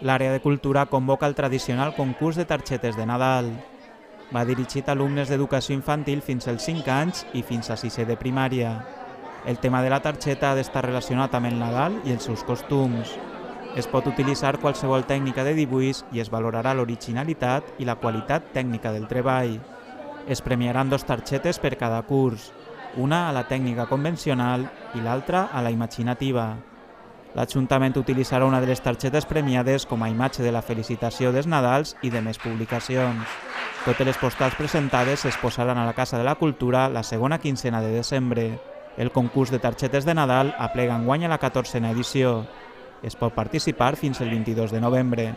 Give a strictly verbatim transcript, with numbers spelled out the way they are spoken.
L'àrea de cultura convoca el tradicional concurs de targetes de Nadal. Va dirigit a alumnes d'educació infantil fins als cinc anys i fins a sisè de primària. El tema de la targeta ha d'estar relacionat amb el Nadal i els seus costums. Es pot utilitzar qualsevol tècnica de dibuix i es valorarà l'originalitat i la qualitat tècnica del treball. Es premiaran dos targetes per cada curs, una a la tècnica convencional i l'altra a la imaginativa. L'Ajuntament utilitzarà una de les targetes premiades com a imatge de la felicitació dels Nadals i de més publicacions. Totes les postals presentades es posaran a la Casa de la Cultura la segona quincena de desembre. El concurs de targetes de Nadal aplega enguany a la catorzena edició. Es pot participar fins el vint-i-dos de novembre.